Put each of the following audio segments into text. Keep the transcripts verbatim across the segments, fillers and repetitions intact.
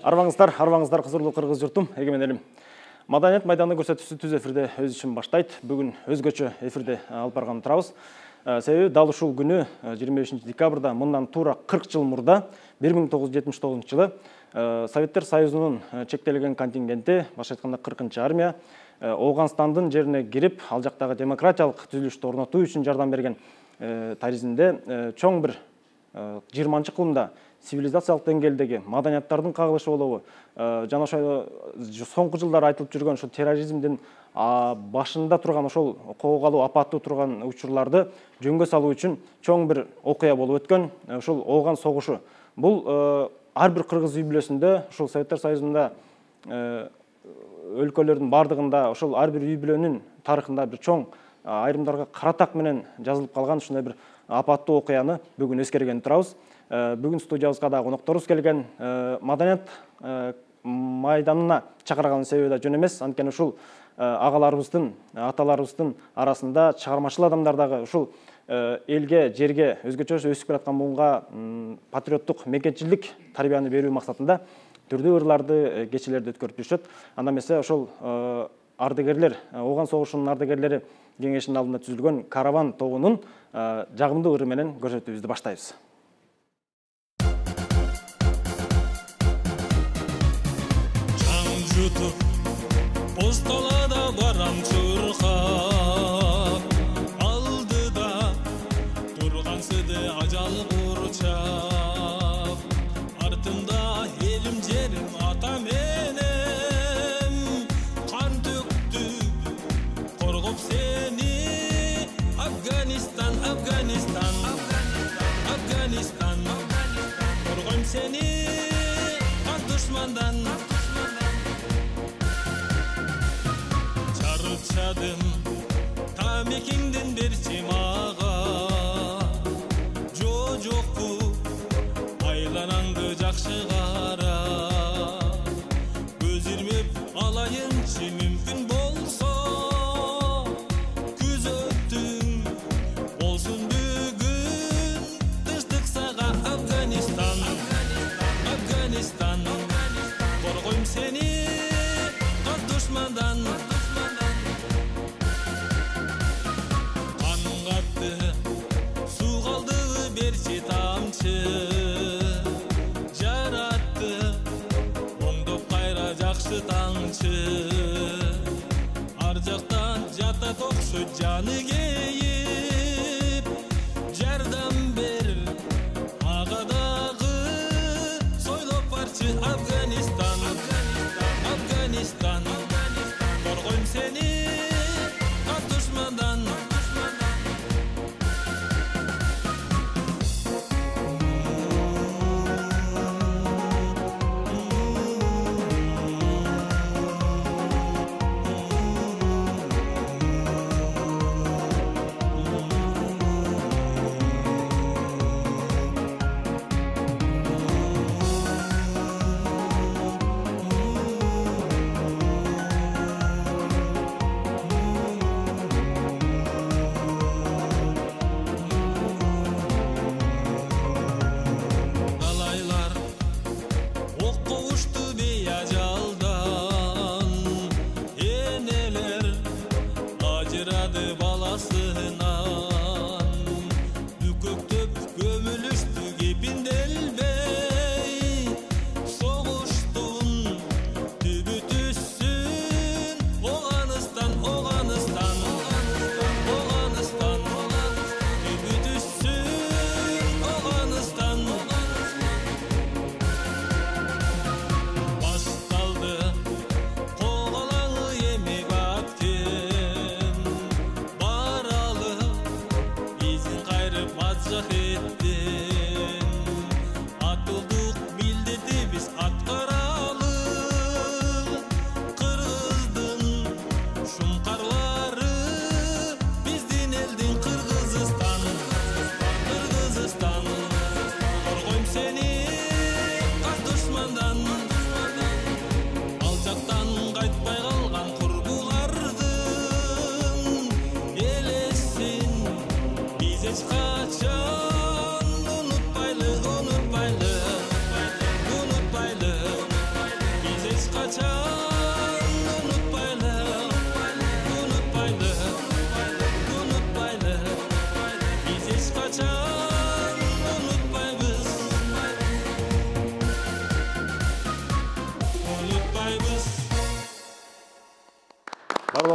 Арбаңыздар, арбаңыздар, кызырлуу кыргыз журтум, эгемен элим. Маданият майданы көрсөтүүсү түз эфирде өз ишин баштайт. Бүгүн өзгөчө эфирде алып барган турабыз. Себеби дал ушул күнү жыйырма бешинчи декабрда мындан туура кырк жыл мурда бир миң тогуз жүз жетимиш тогузунчу жылы Советтер Союзунун чектелген контингенти, башка айтканда кыркынчы армия Ооганстандын жерине кирип, ал жактагы демократиялык түзүлүштү орнотуу үчүн жардам берген таризинде чоң бир жыйырманчы кылымда цивилизациялык деңгээлдеги маданияттардын кагылышы болобу, жана ошол соңку жылдары айтылып жүргөн ошол терроризмдин башында турган ошол коогалуу апаттуу турган учурларды жөнгө салуу үчүн чоң бир окуя болуп өткөн ошол Ооган согушу. Бул ар бир кыргыз үй бүлөсүндө, ошол Советтер Союзунда өлкөлөрдүн бардыгында, ошол ар бир үй бүлөнүн тарыхында бир чоң, айрымдарга каратак менен жазылып калган ушундай бир апаттуу окуяны бүгүн эскерген турабыз. Бүгүн студиябызга да конокторубуз келген. Маданият майданына чакырганын себеби да жөн эмес. Анткени ушул агаларыбыздын, аталарыбыздын арасында чыгармачыл адамдар дагы ушул элге, жерге, өзгөчө өсүп келаткан буунга патриоттук мекенчилик тарбияны берүү максатында түрдүү ырларды, кечелерди өткөрүп жүрүшөт. Анда эмесе ошол ардагерлер, Ооган согушунун ардагерлери кеңешинин алдында түзүлгөн Караван тобунун жагымдуу ыры менен көрсөтүүбүздү баштайбыз. Постолада барам чуркап, алдыда турган сыды ажал курчап, артымда элим жерим ата менен кан төктү коргоп сени. Афганистан, Афганистан, Афганистан, коргойм сени кан душмандан. Чарчадым тамекиңден берчи мага, жо жокпу айланаңды жакшы кара, көз ирмеп алайынчы мүмкүн болсо, күзөтүң болсун бүгүн тынчтык сага. Афганистан, Афганистан, коргойм сени кан душмандан. Жаратты оңдоп кайра жакшы таңчы, ар жактан жатат окшойт жаны кейип, жардам бер ага дагы сойлоп барчы. Афганистан, Афганистан, коргойм сени кан душмандан.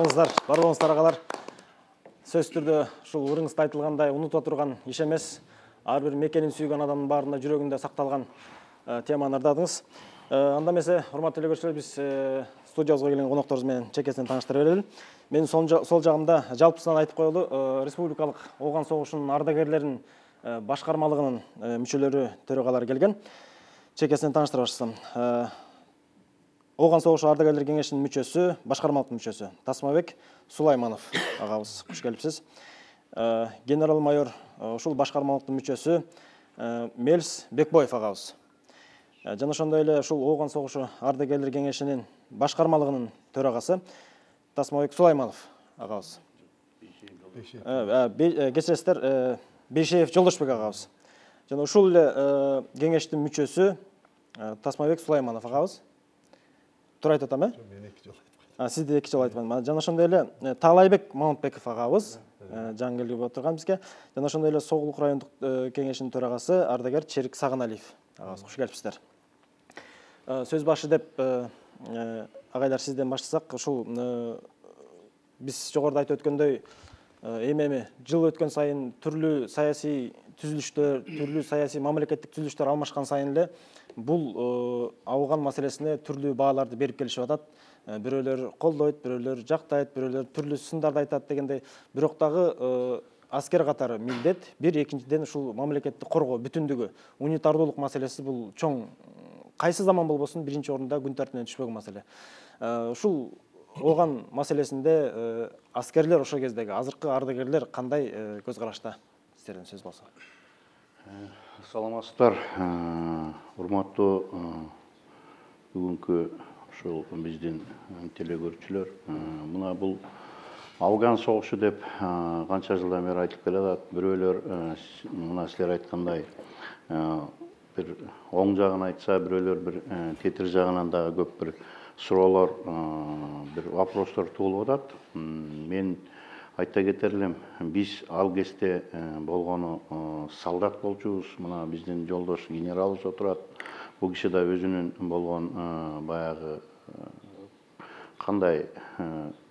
армысыздар, бар болуңуздар агалар. Сөзсүз түрдө ушул ырыңызда айтылгандай унута турган иш эмес. Ар бир мекенин сүйгөн адамдын баарында жүрөгүндө сакталган теманы ырдадыңыз. Анда эмесе, урматтуу телекөрүүчүлөр, биз студиябызга келген конокторубуз менен чекесинен тааныштыра берели. Менин сол жагымда жалпысынан айтып коелу, республикалык ооган согушунун ардагерлеринин башкармалыгынын мүчөлөрү, төрөгалары келген. Чекесинен тааныштыра баштасам. Ооган согушу ардагерлер кеңешинин мүчөсү, башкармалык мүчөсү Тасмабек Сулайманов агабыз, куш келипсиз. Генерал-майор ушул башкармалыктын мүчөсү Мелс Бекбоев агабыз. Жана ошондой эле ушул ооган согушу ардагерлер кеңешинин башкармалыгынын төрагасы Тасмабек Сулайманов агабыз. Кечиресиздер, Бейшеев Жолдошбек агабыз. Жана ушул эле кеңештин мүчөсү Тасмабек Сулайманов агабыз. Туура айтып атам, э? Мен эки жолу айтып калдым. Сизди эки жолу айтып калдым. Жана ошондой эле Таалайбек Мамытбеков агабыз жаңы келип отурган бизге. Жана ошондой эле Соголук райондук кеңешинин төрагасы ардагер Черик Сагыналиев агабыз. Куш келипсиздер. Сөз башы деп агайлар сизден баштасак, ушул биз жогоруда айтып өткөндөй, эми-эми жыл өткөн сайын түрлүү саясий түзүлүштөр, түрлүү саясий мамлекеттик түзүлүштөр алмашкан сайын эле бул ауган маселесине түрлүү бааларды берип келишип атат. Бирөөлөр колдойт, бирөөлөр жактайт, бирөөлөр түрлүү сындарды айтат дегендей. Бирок дагы аскер катары милдет, бир экинчиден ушул мамлекетти коргоо бүтүндүгү, унитардуулук маселеси бул чоң, кайсы заман болбосун биринчи орунда күн тартибине түшпөгөн маселе. Ушул ооган маселесинде аскерлер, ошол кездеги азыркы ардагерлер кандай көз карашта? Сиздерден сөз болсо. Саламатсыздар, урматтуу бүгүнкү ушул биздин телекөрүүчүлөр. Мына бул Афган согушу деп канча жылдан бери айтылып келатат. Бирөөлөр мына силер айткандай бир оң жагын айтса, бирөөлөр бир тетир жагынан дагы көп бир суроолор, бир вопростор туулуп атат. Мен айта кетер элем, биз ал кезде болгону солдат болчубуз. Мына биздин жолдош генералыбыз отурат. Бул киши да өзүнүн болгон баягы кандай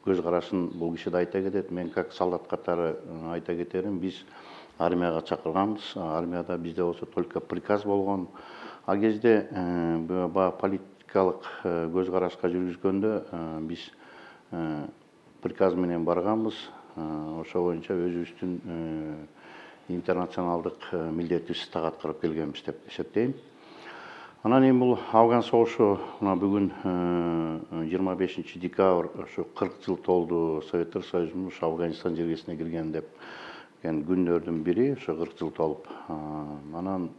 көз карашын бул киши да айта кетет. Мен как солдат катары айта кетерим, биз армияга чакырганбыз. Армияда бизде болсо только приказ болгон. А кезде политикалык көз карашка жүргүзгөндө биз приказ менен барганбыз. Ошо боюнча өзүбүздүн интернационалдык милдетибизди так аткарып келгенбиз деп эсептейм. Анан эми бул Афган согушу мына бүгүн жыйырма бешинчи декабрь ошо кырк жыл толду Советтер Союзунун ушу Афганистан жергесине кирген деп күндөрдүн бири, ошо кырк жыл толуп. Анан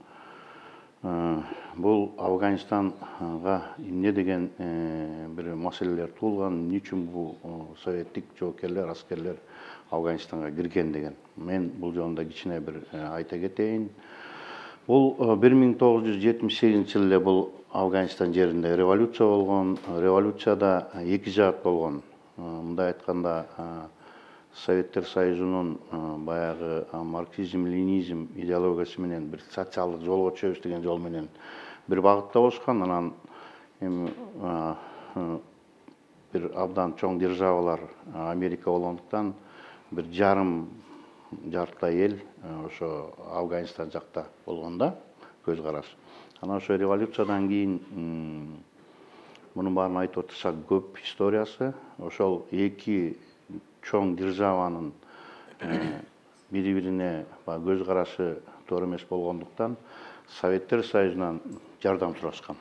бул Афганистанга эмне деген бир маселелер туулган, эмне үчүн бул советтик жоокерлер, аскерлер Афганистанга кирген деген. Мен бул жөнүндө кичине бир айта кетейин. Бул бир миң тогуз жүз жетимиш сегизинчи жылы эле бул Афганистан жеринде революция болгон. Революцияда эки жаат болгон. Мындай айтканда, Советтер Союзунун баягы марксизм-ленинизм идеологиясы менен бир социалдык жолго түшөбүз деген жол менен бир багытта болушкан. Анан эми бир абдан чоң державалар Америка болгондуктан бир жарым жартылай эл ошо Афганистан жакта болгонда көз караш. Анан ошо революциядан кийин мунун баарын айтып отурсак көп историясы. Ошол эки чоң державанын бири-бирине көз карашы туура эмес болгондуктан Советтер Союзунан жардам сурашкан.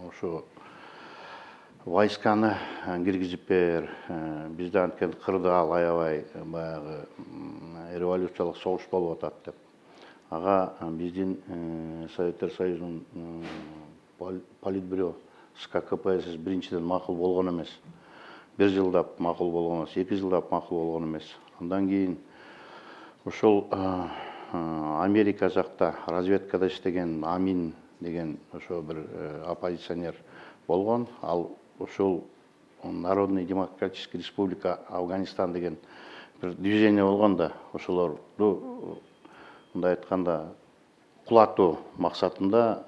Ошо войсканы киргизип бер, бизде анткени кырдаал аябай баягы революциялык согуш болуп атат деп. Ага биздин Советтер Союзунун политбюро СККПСС биринчиден макул болгон эмес. Бир жылдап макул болгон эмес, эки жылдап макул болгон эмес. Андан кийин ошол Америка жакта разведкада иштеген Амин деген ошо бир оппозиционер болгон. Ал ошол Народный демократический республика Афганистан деген бир движение болгон да, ошолорду мындай айтканда кулатуу максатында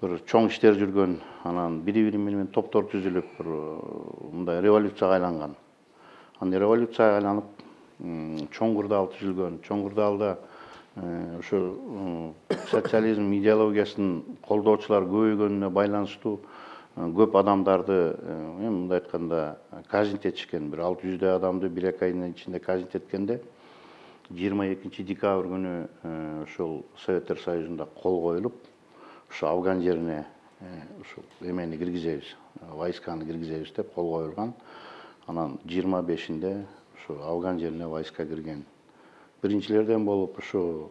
бір чоң іштер жүрген, анан бири-бири менен топтор түзүлүп, бір мындай революцияга айланган. Аны революцияга айланып, чоң курдал түзүлгөн. Чоң курдалда ошо социализм идеологиясын колдоочулар көбөйгөнүнө байланыштуу көп адамдарды, мындай айтканда, казнить этишкен. Бир алты жүздөй адамды бир эки айдын ичинде казнить эткенде, жыйырма экинчи декабрь күнү ошол Советтер Союзунда кол коюлуп, ошо Афган жерине ошо эмени киргизебиз, войсканы киргизебиз деп кол коюлган. Анан жыйырма бешинде ошо Афган жерине войска кирген. Биринчилерден болуп ошо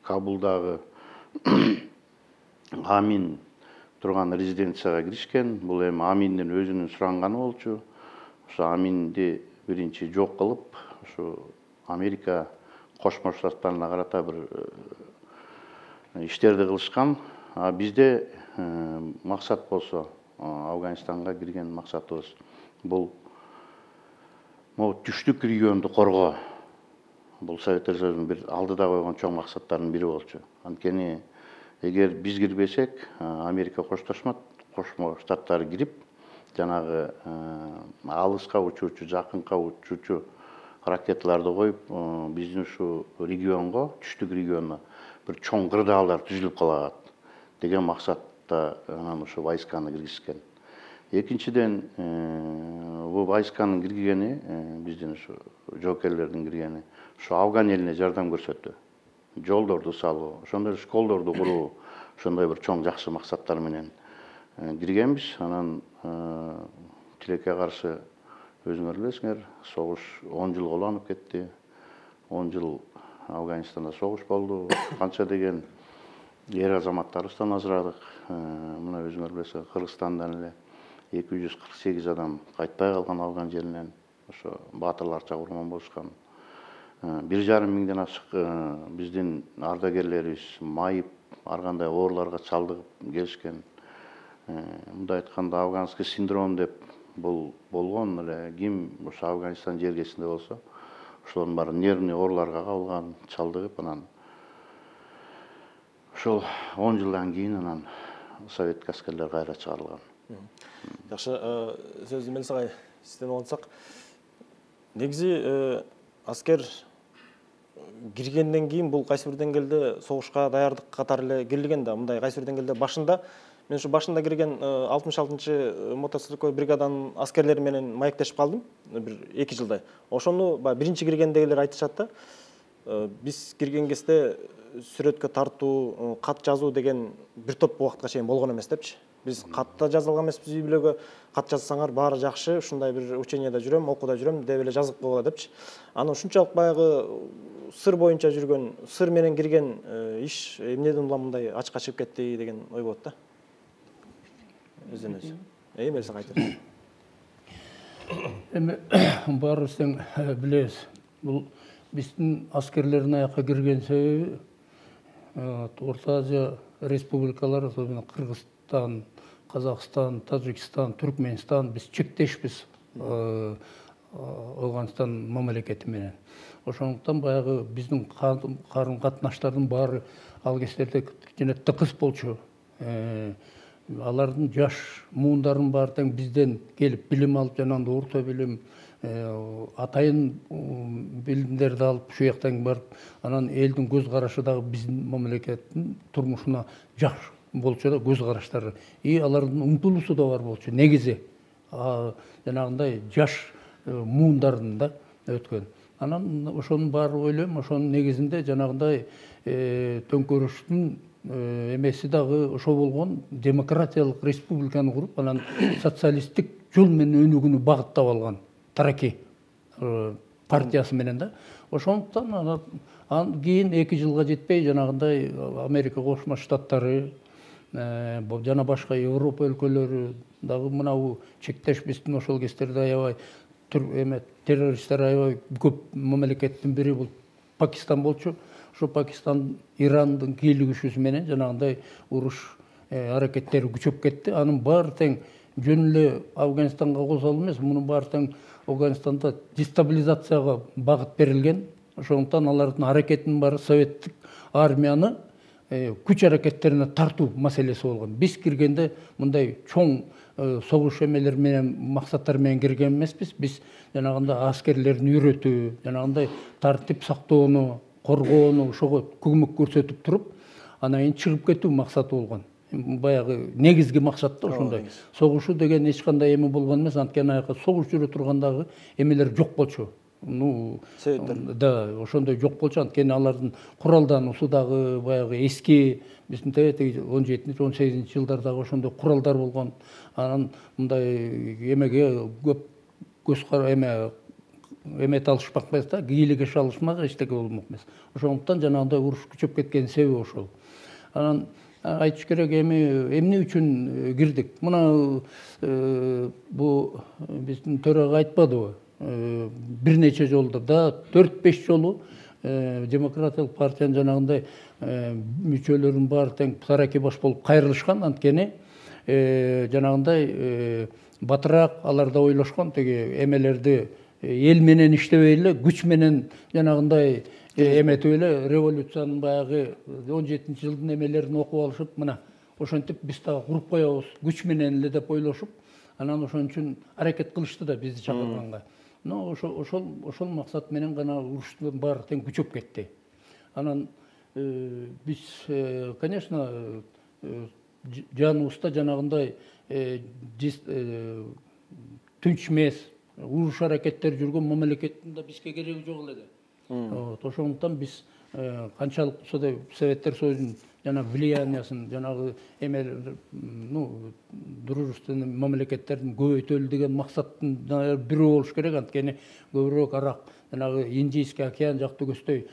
Кабулдагы Амин турган резиденцияга киришкен. Бул эми Аминдин өзүнүн суранганы болчу. Ошо Аминди биринчи жок кылып, ошо Америка Кошмо Штаттарына карата бир иштерди кылышкан. А бизде максат болсо, Афганистанга кирген максатыбыз бул могу түштүк регионду коргоо. Бул Советтер Союзунун бир алдыда койгон чоң максаттарынын бири болчу. Анткени эгер биз кирбесек, Америка коштошмот, Кошмо Штаттары кирип, жанагы алыска учуучу, жакынка учуучу ракеталарды коюп, биздин ушу регионго, түштүк регионуна бир чоң кырдаалдар түзүлүп калат деген максатта анан ошо войсканы киргизген. Экинчиден, бул войсканын киргизгени, биздин ушу жоокерлердин киргени, ошо Афган элине жардам көрсөттү. Жолдорду салуу, ошондой школдорду куруу, ошондой бир чоң жакшы максаттар менен киргенбиз. Анан тилекке каршы өзүңөр билесиңер, согуш он жыл уланып кетти. он жыл Афганистанда согуш болду. Канча деген эр азаматтарыбыздан ажырадык. Мына өзүңөр билесиңер, Кыргызстандан эле эки жүз кырк сегиз адам кайтпай калган Афган жеринен. Ошо баатырларча курман болушкан. бир жарым миңден ашык биздин ардагерлерибиз майып, ар кандай ооруларга чалдыгып келишкен. Мындай айтканда, афганский синдром деп бул болгон эле. Ким ошо Афганистан жергесинде болсо, ошолордун баары нервный ооруларга кабылган, чалдыгып, анан ошол он жылдан кийин анан советтик аскерлер кайра чыгарылган. Жакшы, сөздү Мелис агай сизден алсак, негизи аскер киргенден кийин бул кайсы бир деңгээлде согушка даярдык катары эле кирилген да. Мындай кайсы бир деңгээлде башында, мен ушу башында кирген алтымыш алтынчы мотострелковый бригаданын аскерлери менен маектешип калдым бир эки жылдай. Ошону биринчи киргендегилер айтышат да. Биз кирген кезде сүрөткө тартуу, кат жазуу деген бир топ убакытка чейин болгон эмес депчи. Биз катта жаза алган эмеспиз, үй бүлөгө кат жазсаңар баары жакшы, ушундай бир ученияда жүрөм, окууда жүрөм деп эле жазып койгула депчи. Аны ушунчалык баягы сыр боюнча жүргөн, сыр менен кирген иш эмнеден улам мындай ачыкка чыгып кетти деген ой болот да. Өзүнөн өзү. Эми Мелис айтыр. Эми баарыбыз тең билебиз. Бул биздин аскерлердин аякка кирген себеби Орто Азия республикалары, особенно Кыргызстан, Казакстан, Тажикстан, Түркменстан, биз чектешпиз Афганистан мамлекети менен. Ошондуктан баягы биздин карым катнаштардын баары ал кездерде кичине тыкыз болчу. Алардын жаш муундарынын баары тең бизден келип билим алып, жанагындай орто билим, атайын билимдерди алып ушул жактан барып, анан элдин көз карашы дагы биздин мамлекеттин турмушуна жакшы болчу да, көз караштары. И алардын умтулуусу да бар болчу. Негизи жанагындай жаш муундардын да өткөн. Анан ошонун баары ойлойм, ошонун негизинде жанагындай төңкөрүштүн эмеси дагы ошо болгон, демократиялык республиканы куруп, анан социалисттик жол менен өнүгүүнү багыттап алган Тараки партиясы менен да. Ошондуктан анан кийин эки жылга жетпей жанагындай Америка Кошмо Штаттары жана башка Европа өлкөлөрү дагы мынабу чектеш биздин ошол кездерде аябай эме террористтер аябай көп мамлекеттин бири бул Пакистан болчу. Ошо Пакистан Ирандын кийлигишүүсү менен жанагындай уруш аракеттери күчөп кетти. Анын баары тең жөн эле Афганистанга косол эмес, мунун баары тең Афганистанда дестабилизацияга багыт берилген. Ошондуктан алардын аракетинин баары советтик армияны күч аракеттерине тартуу маселеси болгон. Биз киргенде мындай чоң согуш эмелер менен максаттар менен кирген эмеспиз. Биз жанагындай аскерлерди үйрөтүү, жанагындай тартип сактоону, коргоону ошого көмөк көрсөтүп туруп, анан кийин чыгып кетүү максаты болгон. Баягы негизги максат да ошондой. Согушуу деген эч кандай эме болгон эмес, анткени аяка согуш жүрө тургандагы эмелер жок болчу. Ну, да, ошондой жок болчу, анткени алардын куралдануусу дагы баягы эски, биздин теги он жетинчи он сегизинчи жылдардагы ошондой куралдар болгон. Анан мындай эмеге көп көз кара эме эмете алышпак эмес да, кийлигеше алышмак, эчтеке болмок эмес. Ошондуктан жанагындай уруш күчөп кеткенин себеби ошол. Анан айтыш керек, эми эмне үчүн кирдик? Мына бу биздин төрага айтпадыбы? Бир нече жолдо да төрт беш жолу демократиялык партиянын жанагындай мүчөлөрүнүн баары тең тараки баш болуп кайрылышкан, анткени жанагындай батыраак алар да ойлошкон, теги эмелерди эл менен иштебей эле, күч менен жанагындай эметип эле революциянын баягы он жетинчи жылдын эмелерин окуп алышып, мына ошентип биз дагы куруп коебуз күч менен эле деп ойлошуп, анан ошон үчүн аракет кылышты да бизди чакырганга. Но ошол ошол ошол максат менен гана уруштун баары тең күчөп кетти. Анан биз, конечно, жаныбызда жанагындай тынч эмес, уруш аракеттери жүргөн мамлекеттин да бизге кереги жок эле да. Ошондуктан биз канчалык болсо да Советтер Союзунун жана влияниясын, жанагы эме, ну, дружественный мамлекеттердин көбөйтөлү деген максаттын бирөө болуш керек, анткени көбүрөөк арак жанагы Индийский океан жакты көздөй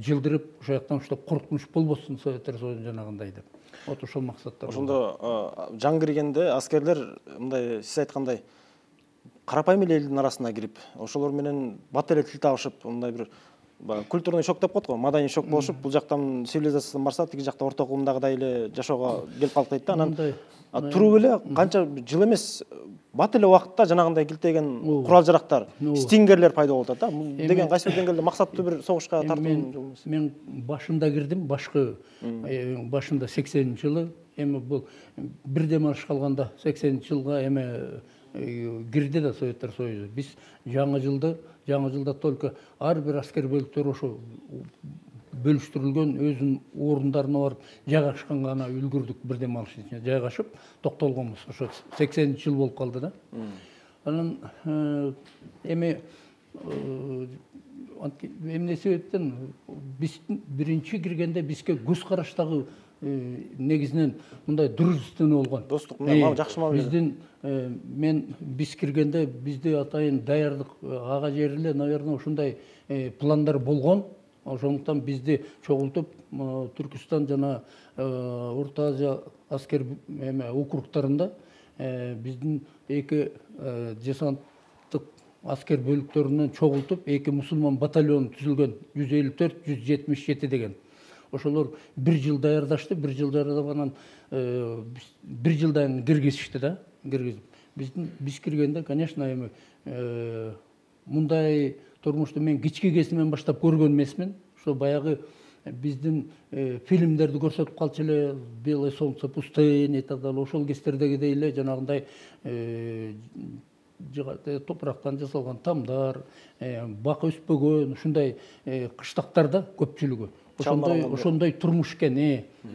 жылдырып, ошол жактан уштап коркунуч болбосун Советтер Союзунун жанагындай деп. Вот ошол максаттар. Ошондо жаң киргенде аскерлер мындай сиз айткандай карапайым эле элдин арасына кирип, ошолор менен бат эле тил табышып, мындай бир культурный шок деп коет го, маданий шок болушуп, бул жактан цивилизациядан барса, тиги жакта орто кылымдагыдай эле жашоого келип калып дейт да. Анан туруп эле канча жыл эмес, бат эле убакытта жанагындай килтеген курал жарактар, стингерлер пайда болуп атат да. Бул деген кайсы бир деңгээлде максаттуу бир согушка тартуу жол эмес. Мен башында кирдим, башкы башында сексенинчи жылы, эми бул бир дем алыш калганда сексенинчи жылга эме кирди да Советтер Союзу. Биз жаңы жылды, жаңы жылда только ар бир аскер бөлүктөр ошо бөлүштүрүлгөн өзүнүн орундарына барып жайгашканга гана үлгүрдүк, бир дем алыш ичине жайгашып токтолгонбуз. Ошо сексенинчи жыл болуп калды да. Анан эми эмне себептен биз биринчи киргенде бизге көз караштагы негизинен мындай дружественный болгон. Достук, мына жакшы мамиле. Биздин мен биз киргенде бизде атайын даярдык ага жери эле, наверное, ушундай пландар болгон. Ошондуктан бизди чогултуп Түркүстан жана Орто Азия аскер эме округтарында биздин эки десанттык аскер бөлүктөрүнөн чогултуп эки мусулман батальон түзүлгөн, жүз элүү төрт жүз жетимиш жети деген. Ошолор бир жыл даярдашты, бир жыл даярдап анан бир жылдан киргизишти да, киргизип. Биздин биз киргенде, конечно, эми мындай турмушту мен кички кезимден баштап көргөн эмесмин. Ошо баягы биздин фильмдерди көрсөтүп калчу эле, Белое солнце пустыни и так далее. Ошол кездердегидей эле жанагындай топурактан жасалган тамдар, бак өспөгөн, ушундай кыштактарда көпчүлүгү. Ошондой ошондой турмуш экен.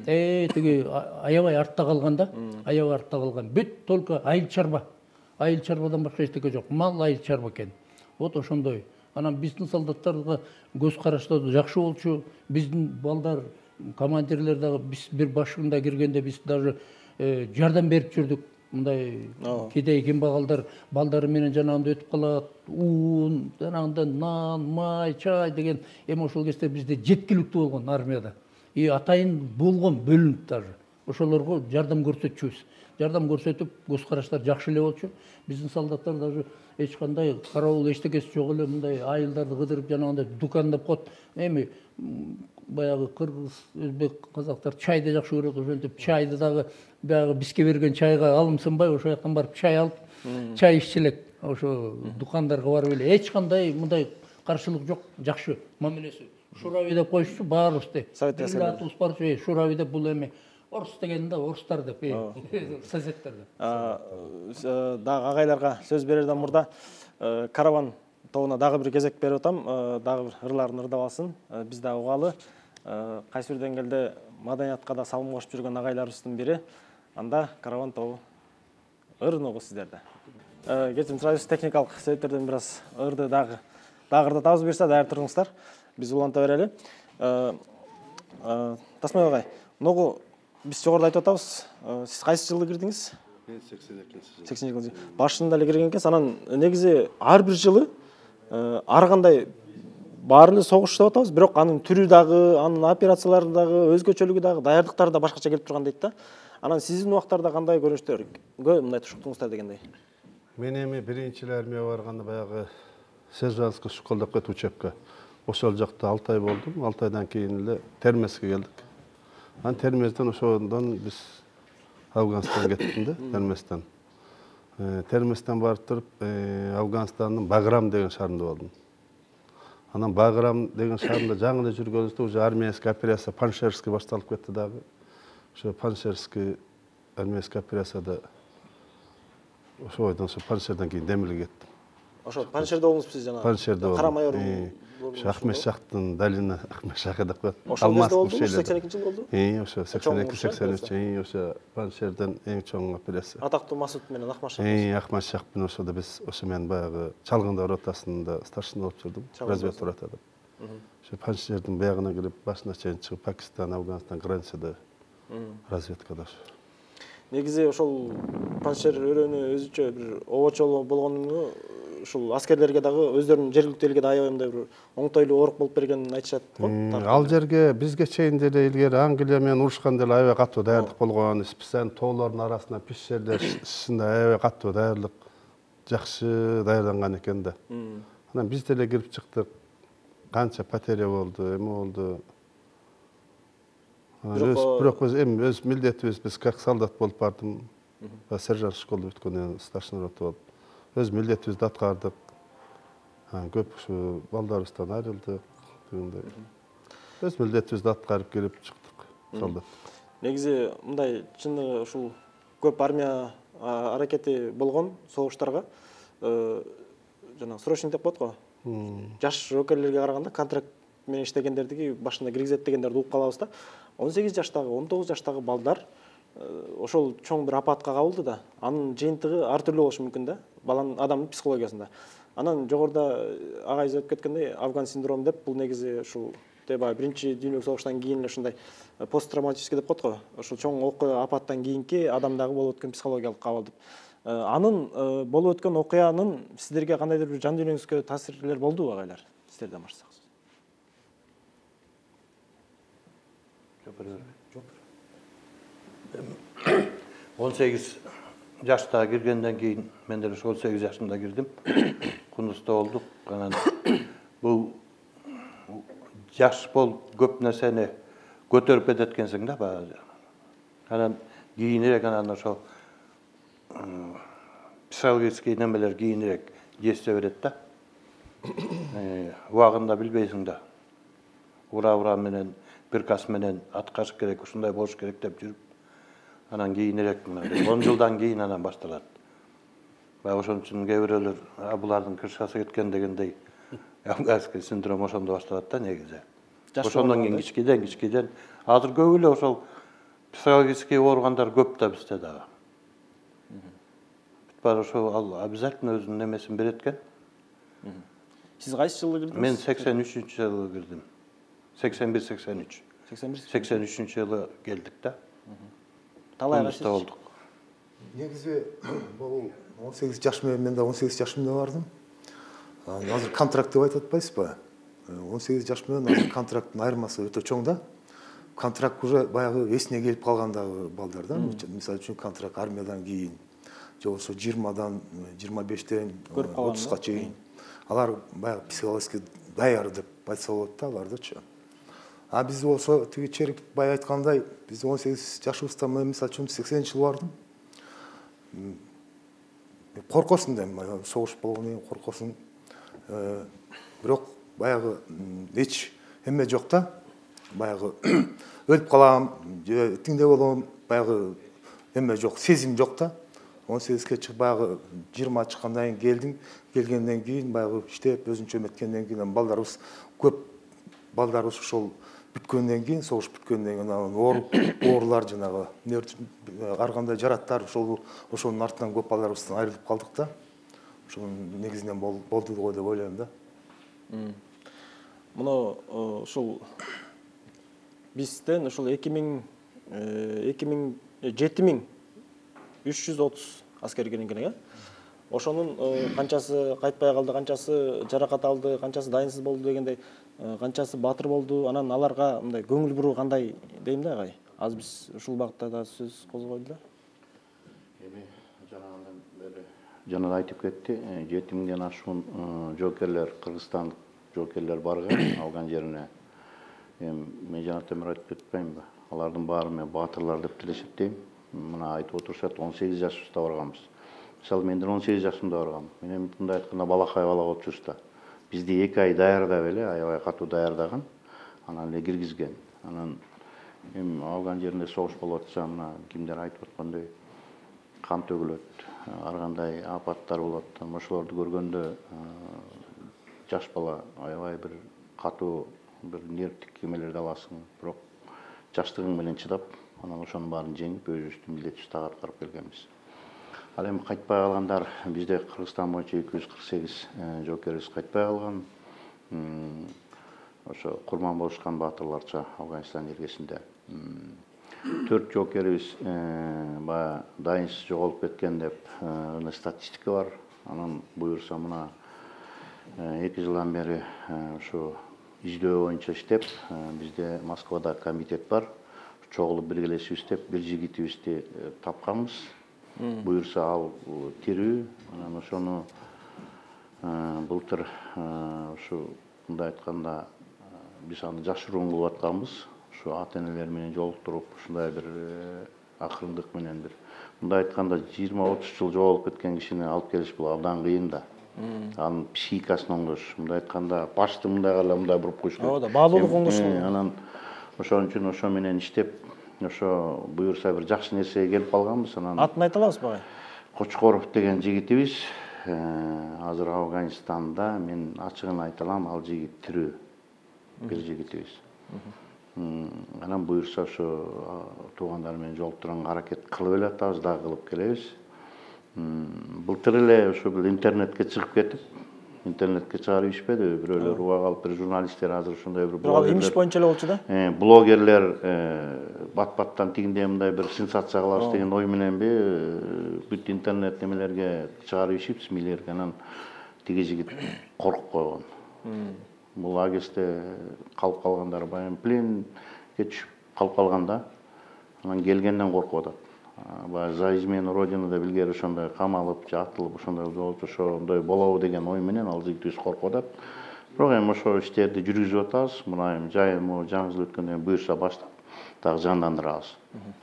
Э, тиги аябай артта калган да, аябай артта калган. Бүт только айыл чарба. Айыл чарбадан башка эчтеке жок. Мал айыл чарба экен. Вот ошондой. Анан биздин солдаттарга көз караштоо жакшы болчу. Биздин балдар, командирлер дагы биз бир башында киргенде биз даже жардам берип жүрдүк. Мындай кедей кембагалдар балдары менен жанагында өтүп калат. Уун, жанагында нан, май, чай деген эми ошол кезде бизде жеткиликтүү болгон армияда. И атайын болгон бөлүнүп даже. Ошолорго жардам көрсөтчүбүз. Жардам көрсөтүп, көз караштар жакшы эле болчу. Биздин солдаттар даже эч кандай карабул эчтекеси жок эле мындай айылдарды кыдырып жанагында дукандап коет. Эми баягы кыргыз, өзбек, казактар чайды жакшы көрөт, ошентип чайды дагы баягы бизге берген чайга алымсынбай ошол жактан барып чай алып, чай иччи элек. Ошо дукандарга барып эле эч кандай мындай каршылык жок, жакшы мамилеси. Шурави деп коюшчу баарыбызды. Совет аскерлери. Атыбыз бар же Шурави деп бул эми орус деген да орустар деп, соседтер деп. Дагы агайларга сөз берерден мурда караван тобуна дагы бир кезек берип атам, дагы бир ырларын ырдап алсын. Биз да угалы. Кайсы бир деңгээлде маданиятка да салым кошуп жүргөн агайларыбыздын бири. Анда караван тобу ырын угу сиздерде. Кечирим сурайбыз, техникалык себептерден бир аз ырды дагы дагы ырдатабыз, буюрса даяр туруңуздар. Биз уланта берели. Тасмай агай, ногу биз жогоруда айтып атабыз. Сиз кайсы жылы кирдиңиз? Мен сексен экинчи жылы. сексен экинчи жылы. Башында эле кирген экенсиз. Анан негизи ар бир жылы ар кандай баары эле согуш деп атабыз, бирок анын түрү дагы, анын операциялары дагы, өзгөчөлүгү дагы, даярдыктары да башкача келип турган дейт да. Анан сиздин убактарда кандай көрүнүштөргө мындай тушуктуңуздар дегендей? Мен эми биринчи эле армияга барганда баягы сержантский школдо окуйт учебка. Ошол жакта алты ай болдум. алты айдан кийин эле Термезге келдик. Анан Термезден ошондон биз Афганистанга кеттим да, Термезден. Термезден барып туруп Афганистандын Баграм деген шаарында болдум. Анан Баграм деген шаарында жаңы эле жүргөнүбүздө уже армейский операция Паншерский башталып кетти дагы. Ошо Паншерский армейский операцияда ошойдон ошо Паншерден кийин Демилге кеттим. Ошо Паншерде болдуңузбу сиз жана? Паншерде болдум. Кара майор. Ошо Ахмет Шахтын долина Ахмет Шахы деп коет. Ошол кезде болдуңу, сексен экинчи жылы болду? Ии, ошо сексен эки сексен үч, ии, ошо Паншерден эң чоң операция. Атактуу Масут менен Ахмат Шах. Ии, Ахмат Шах менен ошода биз ошо мен баягы Чалгындар ротасында старшина болуп жүрдүм, разведка ротада. Ошо Паншердин биягына кирип, башына чейин чыгып, Пакистан, Афганистан границада разведкада ошо. Негизи ошол Паншер өрөөнү өзүчө бир обочол болгону ушул аскерлерге дагы өздөрүнүн жергиликтүү элге да аябай мындай бир оңтойлуу оорук болуп бергенин айтышат го. Ал жерге бизге чейин деле илгери Англия менен урушканда деле аябай катуу даярдык болгон. Специаль тоолордун арасына пещерлер ичинде аябай катуу даярдык, жакшы даярданган экен да. Анан биз деле кирип чыктык. Канча потеря болду, эме болду. Бирок өз эми өз милдетибиз, биз как солдат болуп бардым. Сержант школду бүткөндөн старшина рота болуп. Өз милдетибизди аткардык. Көп ушу балдарыбыздан айрылдык дегендей. Өз милдетибизди аткарып кирип чыктык солдат. Негизи мындай чыны ушул көп армия аракети болгон согуштарга жана срочный деп коет го. Жаш жокерлерге караганда контракт менен иштегендердики башында киргизет дегендерди угуп калабыз да. он сегиз жаштагы, он тогуз жаштагы балдар ошол чоң бир апатка кабылды да. Анын жыйынтыгы ар түрдүү болушу мүмкүн да. Баланын адамдын психологиясында. Анан жогоруда агай айтып кеткендей, Афган синдрому деп, бул негизи ушул баягы биринчи дүйнөлүк согуштан кийин ушундай посттравматический деп коет го. Ошол чоң окуя апаттан кийинки адамдагы болуп өткөн психологиялык кабыл деп. Анын болуп өткөн окуянын сиздерге кандайдыр бир жан дүйнөңүзгө таасирлер болдубу агайлар? Сиздерден баштасак. он сегиз жашта киргенден кийин мен деле он сегиз жашымда кирдим. Кунуста болдук. Анан бул жаш болуп көп нерсени көтөрүп кетет экенсиң да баягы. Анан кийинирээк анан ошо психологический немелер кийинирээк действие берет да. Убагында билбейсиң да. Ура-ура менен, приказ менен аткарыш керек, ушундай болуш керек деп жүрүп, анан кийинирээк он жылдан кийин анан башталат. Баягы ошон үчүн кээ бирөөлөр булардын крышасы кеткен дегендей афганский синдром ошондо башталат да негизи. Ошондон кийин кичкейден кичкейден азыр көп эле ошол психологический ооругандар көп да бизде дагы. Бар ошо ал обязательно өзүнүн немесин берет экен. Сиз кайсы жылы кирдиңиз? Мен сексен үчүнчү жылы кирдим. сексен бир сексен үч. сексен үчүнчү жылы келдик да. Талай кайсы болдук. Негизи бул он сегиз жаш менен мен да он сегиз жашымда бардым. Азыр контракт деп айтып атпайсызбы? он сегиз жаш менен азыр контракттын айырмасы өтө чоң да. Контракт уже баягы эсине келип калгандагы балдар да. Мисалы үчүн контракт армиядан кийин же болбосо жыйырмадан жыйырма бештен отузга чейин. Алар баягы психологически даяр деп айтса болот да алардычы. А биз болсо тиги Черик бай айткандай, биз он сегиз жашыбызда мен мисалы үчүн сексенинчи жылы бардым. Коркосуң да, согуш болгондон кийин коркосуң. Бирок баягы эч эме жок да. Баягы өлүп калам, же тиңде болом, баягы эме жок, сезим жок да. он сегизге чыгып баягы жыйырма чыккандан кийин келдиң, келгенден кийин баягы иштеп, өзүнчө эметкенден кийин балдарыбыз көп, балдарыбыз ошол бүткөндөн кийин, согуш бүткөндөн кийин ооруп, оорулар жанагы ар кандай жараттар ошол ошонун артынан көп балдарыбыздан айрылып калдык да. Ошонун негизинен болду го деп ойлойм да. Мына ушул бизден ушул эки миң жети миң үч жүз отуз аскер келген экен, э? Ошонун канчасы кайтпай калды, канчасы жаракат алды, канчасы дайынсыз болду дегендей, канчасы баатыр болду, анан аларга мындай көңүл буруу кандай дейм да агай. Азыр биз ушул багытта да сөз козгойлу да. Эми жанагындан бери жана айтып кетти, жети миңден ашуун жоокерлер, кыргызстандык жоокерлер барган алган жерине. Эми мен жана темир айтып кетпеймби? Алардын баары мен баатырлар деп деле эсептейм. Мына айтып отурушат, он сегиз жашыбызда барганбыз. Мисалы мен он сегиз жашымда баргам. Мен эми мындай айтканда балакай бала болуп жүрүш да. Бизди эки ай даярдап эле, аябай катуу даярдаган. Анан эле киргизген. Анан эми алган жеринде согуш болуп атса, мына кимдер айтып аткандай кан төгүлөт, ар кандай апаттар болот. Ошолорду көргөндө жаш бала аябай бир катуу бир нервдик эмелерди аласың. Бирок жаштыгың менен чыдап, анан ошонун баарын жеңип, өзүбүздүн милдетибизди аткарып келгенбиз. Ал эми кайтпай калгандар, бизде Кыргызстан боюнча эки жүз кырк сегиз жоокерибиз кайтпай калган. Ошо курман болушкан баатырларча Афганистан жергесинде. Төрт жоокерибиз баягы дайынсыз жоголуп кеткен деп статистика бар. Анан буюрса мына эки жылдан бери ушу издөө боюнча иштеп, бизде Москвада комитет бар. Чогулуп биргелешип иштеп, бир жигитибизди тапканбыз. Буюрса ал тирүү, анан ошону былтыр ушу мындай айтканда биз аны жашыруун кылып атканбыз. Ушу ата-энелер менен жолуктуруп, ушундай бир акырындык менен бир мындай айтканда жыйырма отуз жыл жоголуп кеткен кишини алып келиш бул абдан кыйын да. Анын психикасын оңдош, мындай айтканда башты мындай кыла мындай буруп коюш керек. Ооба, баалуулук оңдош. Анан ошон үчүн ошо менен иштеп, ошо буюрса бир жакшы нерсеге келип калганбыз. Анан атын айта аласызбы агай? Кочкоров деген жигитибиз азыр Афганистанда, мен ачыгын айта алам, ал жигит тирүү. Бир жигитибиз. Анан буюрса ошо туугандар менен жолуктурганга аракет кылып эле атабыз, дагы кылып келебиз. Былтыр эле ошо бир интернетке чыгып кетип, интернетке чыгарып ишпеди, бирөөлөр уга калып, бир журналисттер азыр ошондой бир блогерлер. Имиш боюнча эле болчу да? Блогерлер бат-баттан тигиндей мындай бир сенсация кылабыз деген ой мененби бүт интернет немелерге чыгарып ишипиз, милерге. Анан тиги жигит коркуп койгон. Бул агесте калып калгандар баягы пленге түшүп калып калган да. Анан келгенден коркуп атат. Баягы за измену родины деп илгери ошондой камалып же атылып ошондой болуп ошондой болобу деген ой менен ал жигитибиз коркуп атат. Бирок эми ошо иштерди жүргүзүп атабыз. Мына эми жайы могу жаңы жыл өткөндөн кийин буюрса баштап дагы жандандырабыз.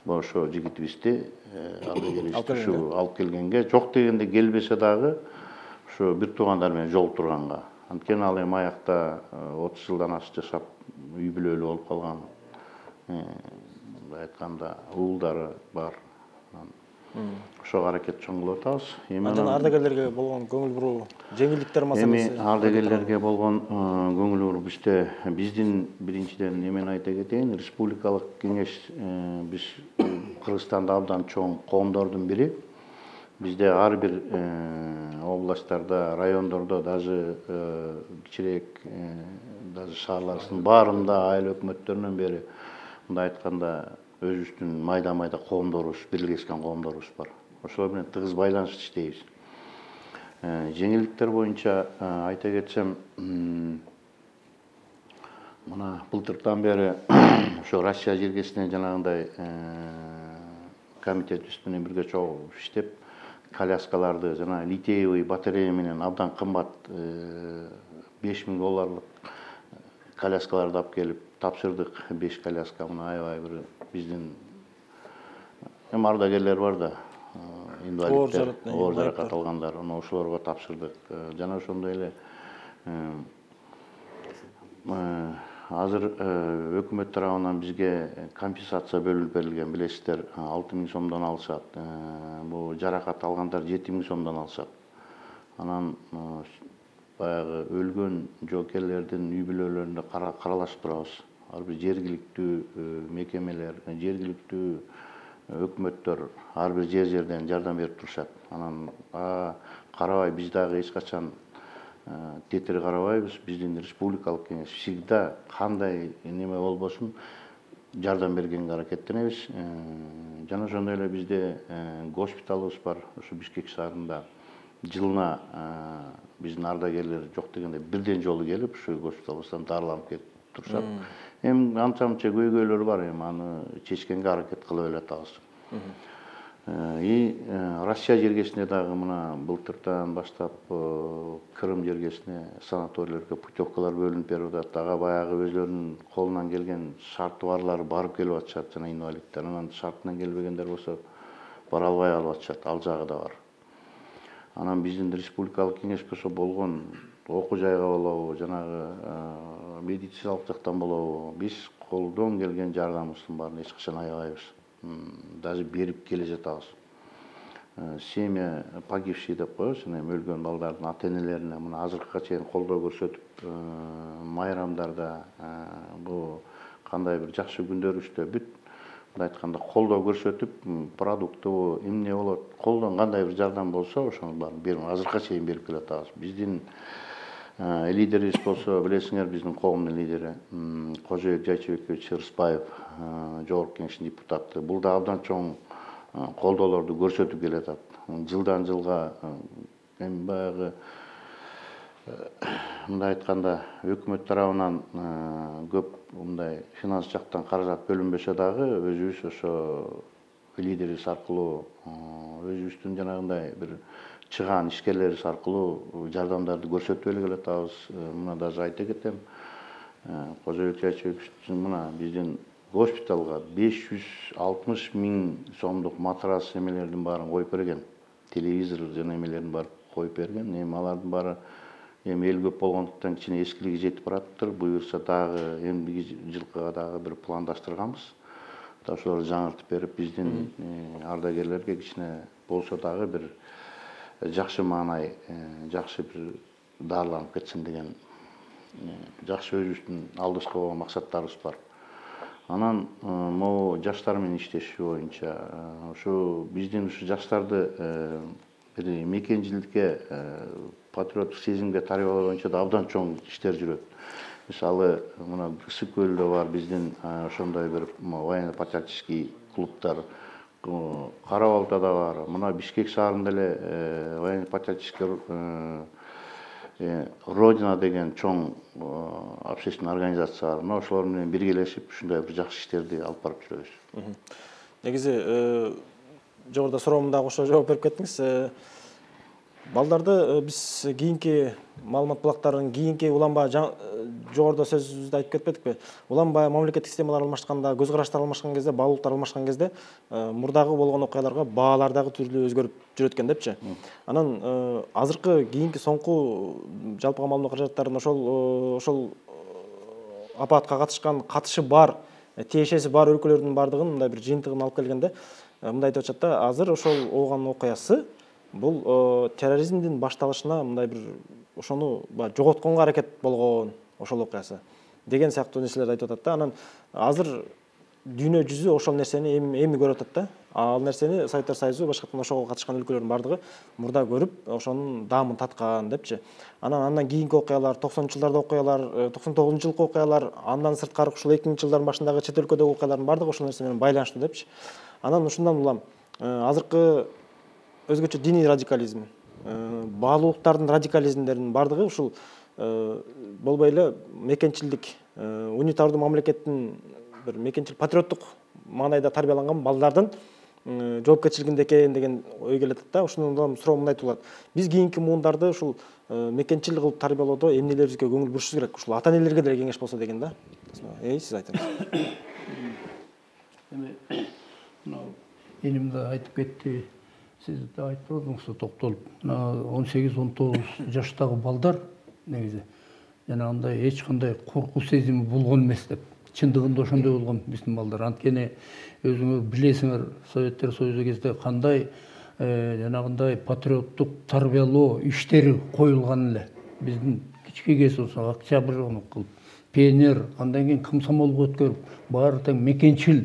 Ошо жигитибизди алып келгенге, жок дегенде келбесе дагы ошо бир туугандар менен жолуктурганга. Анткени ал эми аякта отуз жылдан ашык жашап, үй бүлөлүү болуп калган. Мындай айтканда уулдары бар. Ошого аракет чоң кылып атабыз. Эми жана ардагерлерге болгон көңүл буруу, жеңилдиктер маселеси. Эми ардагерлерге болгон көңүл буруу бизде биздин биринчиден эмени айта кетейин, республикалык кеңеш биз Кыргызстанда абдан чоң коомдордун бири. Бизде ар бир областтарда, райондордо, даже кичирээк даже шаарлардын баарында айыл өкмөттөрүнөн бери мындай айтканда өзүбүздүн майда-майда коомдорубуз, бирлешкен коомдорубуз бар. Ошолор менен тыгыз байланышта иштейбиз. Жеңилдиктер боюнча айта кетсем, мына былтырдан бери ошо Россия жергесинен жанагындай комитетибиз менен бирге чогуу иштеп, коляскаларды жана литиевый батарея менен абдан кымбат беш миң долларлык коляскаларды алып келип тапшырдык. беш коляска, мына аябай бир биздин эми ардагерлер бар да, инвалидтер, оор жаракат алгандар, ошолорго тапшырдык. Жана ошондой эле азыр өкмөт тарабынан бизге компенсация бөлүнүп берилген, билесиздер, алты миң сомдон алышат. Бул жаракат алгандар жети миң сомдон алышат. Анан баягы өлгөн жоокерлердин үй бүлөлөрүндө каралашып турабыз. Ар бир жергиликтүү мекемелер, жергиликтүү өкмөттөр ар бир жер жерден жардам берип турушат. Анан карабай биз дагы эч качан тетири карабайбыз. Биздин республикалык кеңеш всегда кандай неме болбосун жардам бергенге аракеттенебиз. Жана ошондой эле бизде госпиталыбыз бар, ушу Бишкек шаарында. Жылына биздин ардагерлер жок дегенде бирден жолу келип, ушу госпиталыбыздан дарыланып кетип турушат. Эми анча-мынча көйгөйлөр бар, эми аны чечкенге аракет кылып эле атабыз. И Россия жергесине дагы мына былтырдан баштап Крым жергесине санаторийлерге путевкалар бөлүнүп берип атат. Дагы баягы өзлөрүнүн колунан келген шарты барлары барып келип атышат, жана инвалидтер. Анан шартынан келбегендер болсо бара албай калып атышат, ал жагы да бар. Анан биздин республикалык кеңеш болсо болгон окуу жайга болобу, жанагы медициналык жактан болобу, биз колдон келген жардамыбыздын баарын эч качан аябайбыз. Даже берип келе жатабыз. Семья погибший деп коебуз, өлгөн балдардын ата-энелерине мына азыркыга чейин колдоо көрсөтүп, майрамдарда бул кандай бир жакшы күндөрүбүздө бүт мындай айтканда колдоо көрсөтүп, продукту эмне болот, колдон кандай бир жардам болсо, ошонун баарын берип, азыркыга чейин берип келе атабыз. Биздин лидерибиз болсо, билесиңер, биздин коомдун лидери Кожобек Жайчыбекович Ырысбаев, жогорку кеңештин депутаты. Бул да абдан чоң колдоолорду көрсөтүп келе атат. Жылдан жылга эми баягы мындай айтканда өкмөт тарабынан көп мындай финанс жактан каражат бөлүнбөсө дагы өзүбүз ошо лидерибиз аркылуу, өзүбүздүн жанагындай бир чыгаан ишкерлерибиз аркылуу жардамдарды көрсөтүп эле келатабыз. Мына даже айта кетем, Кожобек Жайчыбековичтин мына биздин госпиталга беш жүз алтымыш миң сомдук матрас эмелердин баарын коюп берген. Телевизор жана эмелердин баарын коюп берген. Эми алардын баары эми эл көп болгондуктан кичине эскилиги жетип бараттыр. Буюрса дагы эмдиги жылкыга дагы бир пландаштырганбыз. Да ошолорду жаңыртып берип, биздин ардагерлерге кичине болсо дагы бир жакшы маанай, жакшы бир дарыланып кетсин деген жакшы өзүбүздүн алдыбызга болгон максаттарыбыз бар. Анан могу жаштар менен иштешүү боюнча ушу биздин ушу жаштарды бир мекенчиликке, патриоттук сезимге тарбиялоо боюнча да абдан чоң иштер жүрөт. Мисалы, мына Ысык көлдө бар биздин ошондой бир военно-патриотический клубтар, Кара Балтада бар, мына Бишкек шаарында эле военно-патриотический Родина деген чоң общественный организация бар. Мына ошолор менен биргелешип ушундай бир жакшы иштерди алып барып жүрөбүз. Негизи жогоруда суроомду кошо жооп берип кеттиңиз. Балдарды биз кийинки маалымат булактарын кийинки уланба жогоруда сөзүбүздү айтып кетпедикпи? Уланба мамлекеттик системалар алмашканда, көз караштар алмашкан кезде, баалуулуктар алмашкан кезде мурдагы болгон окуяларга баалар дагы түрлүү өзгөрүп жүрөт экен депчи. Анан азыркы кийинки соңку жалпыга маалымат каражаттарынын ошол ошол апатка катышкан, катышы бар, тиешеси бар өлкөлөрдүн бардыгын мындай бир жыйынтыгын алып келгенде мындай айтып атышат да, азыр ошол болгон окуясы бул терроризмдин башталышына мындай бир ошону жоготконго аракет болгон ошол окуясы деген сыяктуу нерселерди айтып атат да. Анан азыр дүйнө жүзү ошол нерсени эми эми көрүп атат да. Ал нерсени Советтер Союзу башкатан ошого катышкан өлкөлөрдүн бардыгы мурда көрүп, ошонун даамын таткан депчи. Анан андан кийинки окуялар, токсонунчу жылдарда окуялар, токсон тогузунчу жылкы окуялар, андан сырткары ушул эки миңинчи жылдардын башындагы чет өлкөдөгү окуялардын бардыгы ошол нерсе менен байланыштуу депчи. Анан ушундан улам азыркы өзгөчө диний радикализм, баалуулуктардын радикализмдеринин бардыгы ушул болбой эле мекенчилдик, унитардуу мамлекеттин бир мекенчил патриоттук маанайда тарбияланган балдардын жоопкерчилигинде экен деген ой келет да. Ушундан суроо мындай туулат. Биз кийинки муундарды ушул мекенчил кылып тарбиялоодо эмнелерибизге көңүл бурушубуз керек? Ушул ата-энелерге деле кеңеш болсо деген да. Эй, сиз айтыңыз. Эми мына эним да айтып кетти. Сиз да айтып бердиңиз, токтолуп. он сегиз он тогуз жаштагы балдар негизи жанагындай эч кандай коркуу сезими болгон эмес деп. Чындыгында ошондой болгон биздин балдар. Анткени өзүңөр билесиңер, Советтер Союзу кезде кандай жанагындай патриоттук тарбиялоо иштери коюлган эле. Биздин кички кез болсо Октябрь кылып, пионер, андан кийин комсомолго өткөрүп, баары тең мекенчил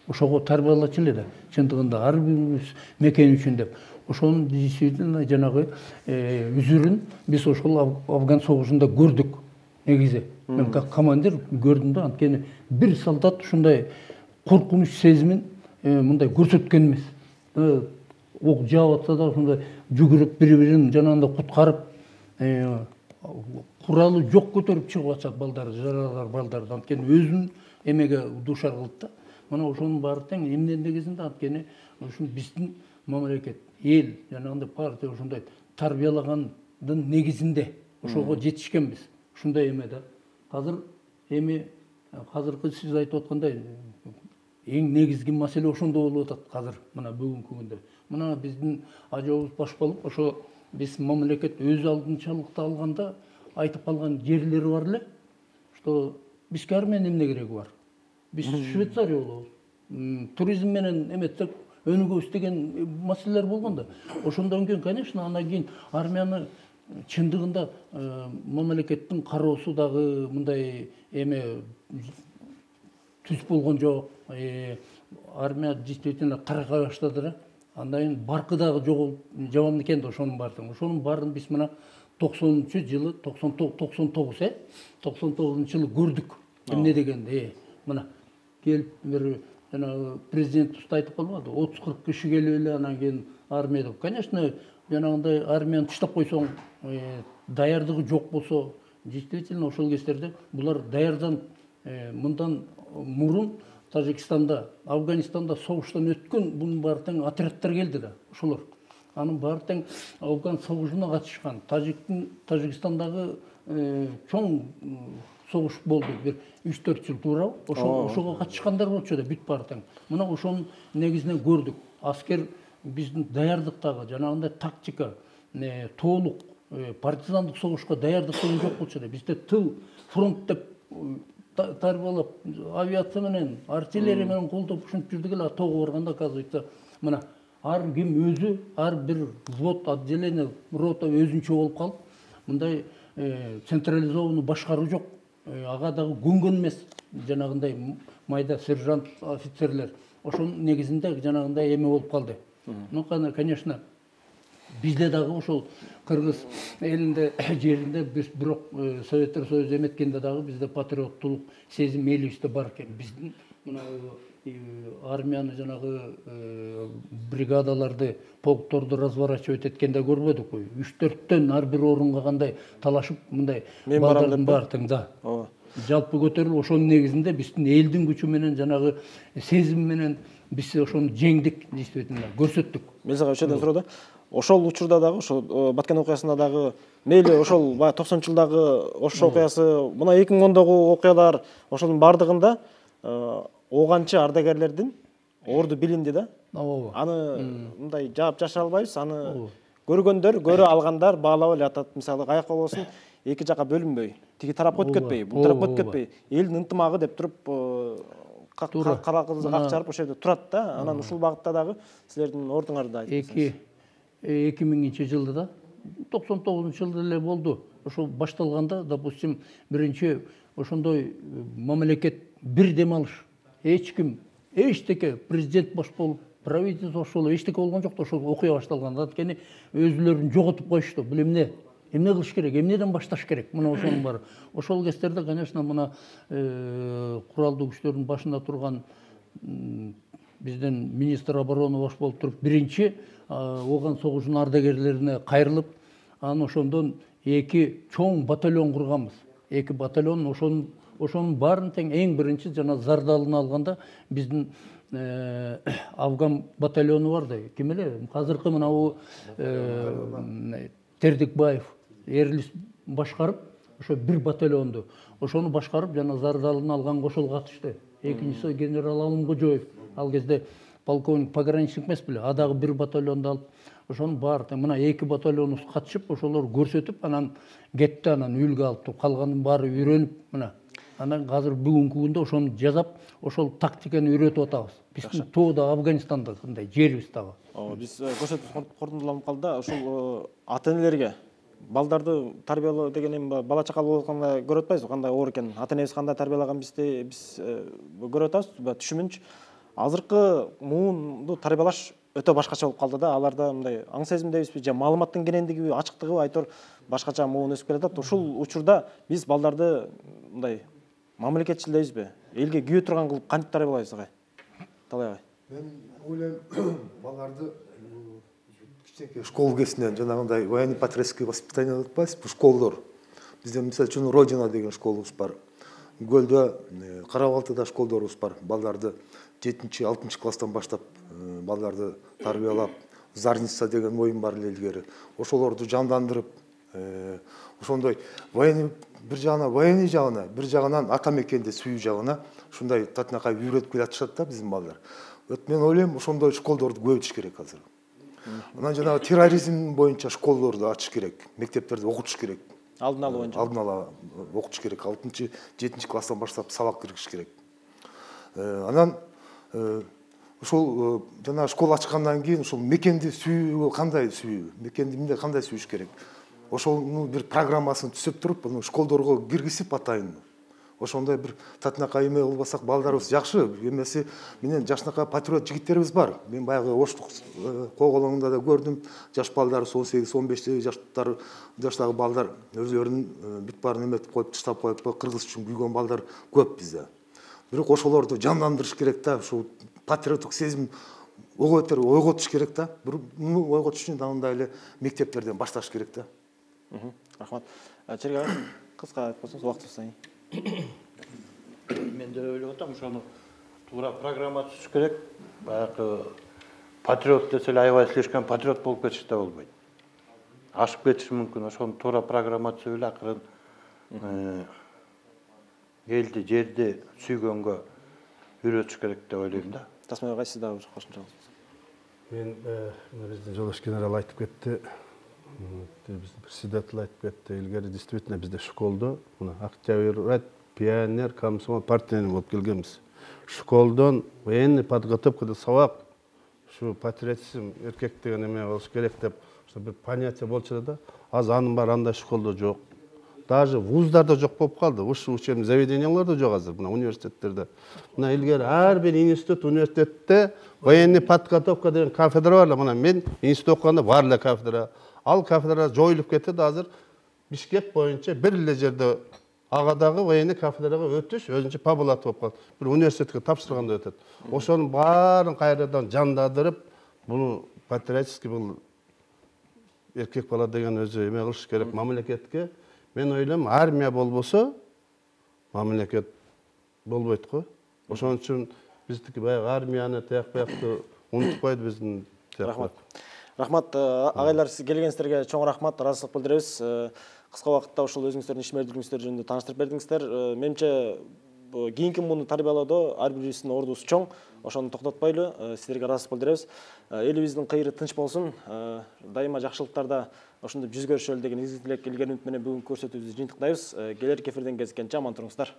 ошого тарбиялачу эле да. Чындыгында ар бирибиз мекен үчүн деп. Ошонун действительно жанагы үзүрүн биз ошол Афган согушунда көрдүк. Негизи мен как командир көрдүм да, анткени бир солдат ушундай коркунуч сезимин мындай көрсөткөн эмес. Ок жаап атса да ошондой жүгүрүп бири-бирин жанагындай куткарып, куралы жок көтөрүп чыгып атышат балдар, жаралар балдарды. Анткени өзүн эмеге дуушар кылды да. Мына ошонун баары тең эмненин негизинде, анткени ушул биздин мамлекет, эл, жанагындай партия ошондой тарбиялагандын негизинде ошого жетишкенбиз. Ушундай эме да. Азыр эми азыркы сиз айтып аткандай эң негизги маселе ошондо болуп атат азыр, мына бүгүнкү күндө. Мына биздин ажабыбыз башкалып, ошо биз мамлекет өз алдынчалыкты алганда айтып калган жерлери бар эле, что бизге армиянын эмне кереги бар? Биз Швейцария болобуз. Туризм менен эметсек өнүгөбүз деген маселелер болгон да. Ошондон кийин, конечно, андан кийин армияны чындыгында мамлекеттин кароосу дагы мындай эме түз болгон жок. Армия действительно каргай баштады да. Андан кийин баркы дагы жоголуп жабам экен да ошонун баарын. Ошонун баарын биз мына токсонунчу жылы, токсон тогуз, э? токсон тогузунчу жылы көрдүк. Эмне дегенди? Мына келип бир жанагы президент уста айтып калбады, отуз кырк киши келип эле анан кийин армия деп. Конечно, жанагындай армияны таштап койсоң, даярдыгы жок болсо, действительно ошол кездерде булар даярданып, мындан мурун Тажикстанда, Афганистанда согуштан өткөн бунун баары тең отрядтар келди да, ошолор. Анын баары тең Афган согушуна катышкан. Тажиктин Тажикстандагы чоң согуш болду, бир үч төрт жыл туурабы? Ошого катышкандар болчу да, бүт баары тең. Мына ошонун негизинен көрдүк. Аскер биздин даярдыктагы жанагындай тактика, толук партизандык согушка даярдык деген жок болчу да. Бизде тыл, фронт деп тарбиялап, авиация менен, артиллерия менен колдоп ушинтип жүрдүк эле. Тоого барганда оказывается, мына ар ким өзү, ар бир взвод, отделение, рота өзүнчө болуп калып, мындай централизованный башкаруу жок. Ага дагы көнгөн эмес жанагындай майда сержант офицерлер. Ошонун негизинде жанагындай эме болуп калды. Ну, конечно, бизде дагы ошол кыргыз элинде жеринде биз бирок Советтер Союзу эметкенде дагы бизде патриоттулук сезим элибизде бар экен. Биздин мына армияны жанагы бригадаларды, полкторду разворачивать эткенде көрбөдүкпү? үч төрттөн ар бир орунга кандай талашып, мындай балдардын баары тең да. Жалпы көтөрүлүп, ошонун негизинде биздин элдин күчү менен жанагы сезим менен биз ошону жеңдик, действительно көрсөттүк. Мелис ага өчөдөн суроо да. Ошол учурда дагы, ошол Баткен окуясында дагы, мейли ошол баягы токсонунчу жылдагы Ош окуясы, мына эки миң ондогу окуялар, ошонун бардыгында оганчы ардагерлердин орду билинди да. Ооба. Аны мындай жаап жашыра албайбыз. Аны көргөндөр, көрө алгандар баалап эле атат. Мисалы, каяка болсун, эки жака бөлүнбөй, тиги тарапка өтүп кетпей, бул тарапка өтүп кетпей, элдин ынтымагы деп туруп, каракызды как чарып ошол жерде турат да. Анан ушул багытта дагы силердин ордуңарды айтыңыз. эки миңинчи жылда да, токсон тогузунчу жылда эле болду. Ошол башталганда, допустим, биринчи ошондой мамлекет бир дем алыш. Эч ким, эчтеке, президент баш болуп, правительство ошол эчтеке болгон жок да, ошол окуя башталганда. Анткени өзүлөрүн жоготуп коюшту. Бул эмне? Эмне кылыш керек? Эмнеден башташ керек? Мына ошонун баары. Ошол кездерде, конечно, мына куралдуу күчтөрдүн башында турган биздин министр обороны баш болуп туруп, биринчи Ооган согушунун ардагерлерине кайрылып, анан ошондон эки чоң батальон курганбыз. Эки батальон, ошонун ошонун баарын тең эң биринчи жана зардалын алганда биздин Афган батальону бар да. Ким эле? Азыркы мына бу Тердикбаев, Эрлис башкарып, ошо бир батальонду, ошону башкарып жана зардалын алганга ошол катышты. Экинчиси генерал Алымкожоев. Ал кезде полковник пограничник эмес беле, а дагы бир батальонду алып, ошонун баары тең мына эки батальонубуз катышып, ошолор көрсөтүп, анан кетти, анан үйлгө алып туруп, калганын баары үйрөнүп, мына. Анан азыр бүгүнкү күндө ошону жасап, ошол тактиканы үйрөтүп атабыз. Биздин тоодо Афганистанда кандай жерибиз дагы. Биз көрсөтүү корутундуланып калды да, ушул ата-энелерге балдарды тарбиялоо деген эми бала чакалуу болуп атканда көрүп атпайбызбы, кандай оор экенин. Ата-энебиз кандай тарбиялаган бизди биз көрүп атабыз. Түшүмүнчү азыркы муунду тарбиялаш өтө башкача болуп калды да. Аларда мындай аң сезимдебизби, же маалыматтын кенендигиби, ачыктыгыбы айтор башкача муун өсүп келатат. Ушул учурда биз балдарды мындай мамлекетчил дейбизби, элге күйө турган кылып кантип тарбиялайбыз агай? Талай агай. Мен ойлойм, балдарды кичинекей школа кезинен жанагындай военно-патриотский воспитание деп атпайбызбы, школдор. Бизде мисалы үчүн Родина деген школубуз бар. Гөлдө, Кара-Балтыда школдорубуз бар. Балдарды жетинчи, алтынчы класстан баштап балдарды тарбиялап, Зарница деген оюн бар эле илгери. Ошолорду жандандырып, ошондой военный бир жагынан военный жагына, бир жагынан ата мекенди сүйүү жагына ушундай татынакай үйрөтүп келатышат да биздин балдар. Мен ойлойм, ошондой школдорду көбөйтүш керек азыр. Анан жанагы терроризм боюнча школдорду ачыш керек, мектептерде окутуш керек. Алдын алуу боюнча. Алдын ала окутуш керек. алтынчы, жетинчи класстан баштап сабак киргизиш керек. Анан ушул жана школа ачкандан кийин ушул мекенди сүйүү кандай сүйүү, мекенди эмне кандай сүйүш керек. Ошонун бир программасын түзүп туруп, аны школдорго киргизип атайын. Ошондой бир татынакай эме кылбасак балдарыбыз жакшы. Эмеси менен жашынакай патриот жигиттерибиз бар. Мен баягы оштук койголоңунда да көрдүм. Жаш балдарыбыз он сегиз он беш жаштар жаштагы балдар өздөрүнүн бүт баарын эметип коюп, таштап коюп, кыргыз үчүн күйгөн балдар көп бизде. Бирок ошолорду жандандырыш керек да, ушул патриоттук сезим ойготуш керек да. Буну ойготуш үчүн андай эле мектептерден башташ керек да. Рахмат. Черге кыска айтып койсоңуз, убактыбыз сайын. Мен де ойлоп атам, ошону туура программа түзүш керек. Баягы патриот десе эле аябай слишком патриот болуп кетиш да болбойт. Ашып кетиши мүмкүн. Ошону туура программа түзүп эле акырын элди, жерди сүйгөнгө үйрөтүш керек деп ойлойм да. Тасмай агай, сиз дагы бир кошумчаңыз. Мен биздин жолдош генерал айтып кетти. Биздин председатель айтып кетти. Илгери действительно бизде школдо мына Октябрь, пионер, комсомол, партияны болуп келгенбиз. Школдон военный подготовкада сабак, ушу патриотизм, эркек деген эме болуш керек деп бир понятие болчу да. Азыр анын баары андай школдо жок. Даже вуздарда жок болуп калды. Ушу учебный заведенияларда жок азыр, мына университеттерде. Мына илгери ар бир институт, университетте военный подготовка деген кафедра бар. Мына мен институт окуганда бар эле кафедра. Ал кафедра жоюлуп кетти да, азыр Бишкек боюнча бир эле жерде агадагы военный кафедрага өтүш өзүнчө по блату болуп калды. Бир университетке тапшырганда өтөт. Ошонун баарын кайрадан жандандырып, буну патриотический бул эркек бала деген өзү эме кылыш керек мамлекетке. Мен ойлойм, армия болбосо мамлекет болбойт го. Ошон үчүн биздики баягы армияны тияк бияктуу унутуп койду биздин. Рахмат. Рахмат, агайлар, сиз келгениңиздерге чоң рахмат, ыраазычылык билдиребиз. Кыска убакытта ушул өзүңүздөрдүн иш мердүүлүгүңүздөр жөнүндө тааныштырып бердиңиздер. Менимче кийинки муну тарбиялоодо ар бирибиздин ордубуз чоң. Ошону токтотпойлу. Сиздерге ыраазычылык билдиребиз. Элибиздин кыйры тынч болсун. Дайыма жакшылыктарда ошондой жүз көрүшөлү деген изги тилек, илгери үмүт менен бүгүнкү көрсөтүүбүздү жыйынтыктайбыз. Келерки эфирден кезишкенче аман туруңуздар.